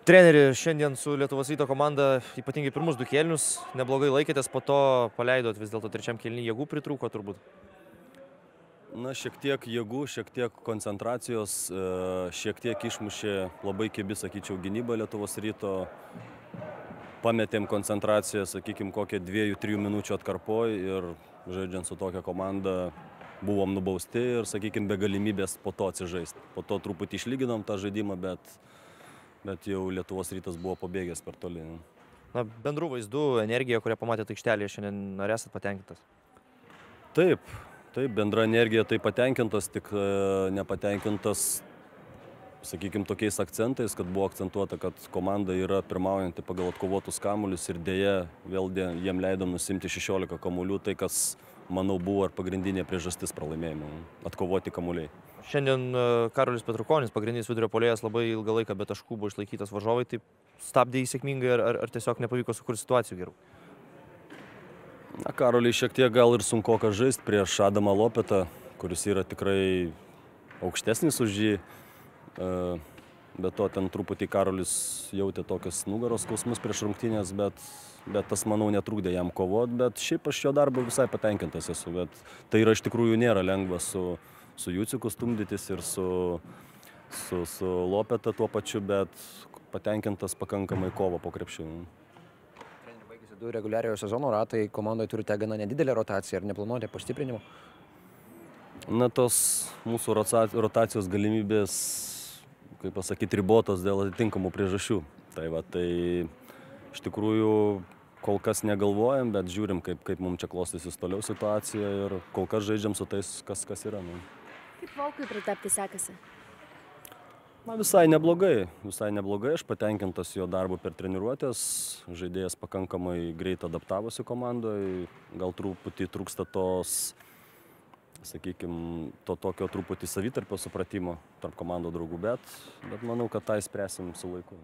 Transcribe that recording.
Treneri, šiandien su Lietuvos Ryto komanda ypatingai pirmus 2 kėlinius neblogai laikėtės, po to paleidot vis dėlto trečiam kėliny, jėgų pritrūko turbūt. Na, šiek tiek jėgų, šiek tiek koncentracijos, šiek tiek išmušė labai kibi, sakyčiau, gynyba Lietuvos Ryto. Pametėm koncentraciją, sakykime, kokią 2-3 minučių atkarpoj ir žaidžiant su tokia komanda buvom nubausti ir, sakykime, be galimybės po to atsižaisti. Po to truputį išlyginom tą žaidimą, bet jau Lietuvos Rytas buvo pabėgęs per toli. Na, bendrų vaizdų, energija, kurią pamatėte aikštelėje šiandien, ar esat patenkintas? Taip, bendra energija tai patenkintas, tik nepatenkintas, sakykime, tokiais akcentais, kad buvo akcentuota, kad komanda yra pirmaujanti pagal atkovotus kamuolius ir dėja vėl jiem leidom nusimti 16 kamuolių, tai kas, manau, buvo ir pagrindinė priežastis pralaimėjimo - atkovoti kamuoliai. Šiandien Karolis Petrukonis, pagrindinis vidurio puolėjas, labai ilgą laiką be taškų buvo išlaikytas varžovai, tai stabdė jį sėkmingai ar tiesiog nepavyko sukurti situacijų gerų? Na, Karoliui šiek tiek gal ir sunkoka žaisti prieš Adamą Lopetą, kuris yra tikrai aukštesnis už jį. Be to, ten truputį Karolis jautė tokias nugaros skausmus prieš rungtynės, bet tas, manau, netrukdė jam kovot, bet šiaip aš jo darbu visai patenkintas esu, bet tai yra iš tikrųjų nėra lengva su Juciku stumdytis ir su Lopeta tuo pačiu, bet patenkintas pakankamai kovo po krepšiu. Baigėsi 2 reguliariojo sezono ratai, komandoje turite gana nedidelę rotaciją, ar neplanuojate pastiprinimo? Na, tos mūsų rotacijos galimybės, kaip pasakyti, ribotos dėl atitinkamų priežasčių. Tai iš tikrųjų kol kas negalvojam, bet žiūrim, kaip mums čia klostysis toliau situacija ir kol kas žaidžiam su tais, kas yra. Kaip Volkui pritapti sekasi? Na, visai neblogai, aš patenkintas jo darbu per treniruotės, žaidėjas pakankamai greit adaptavosi komandoje, gal truputį trūksta tos, sakykime, to tokio truputį savitarpio supratimo tarp komandų draugų, bet manau, kad tą spręsim su laiku.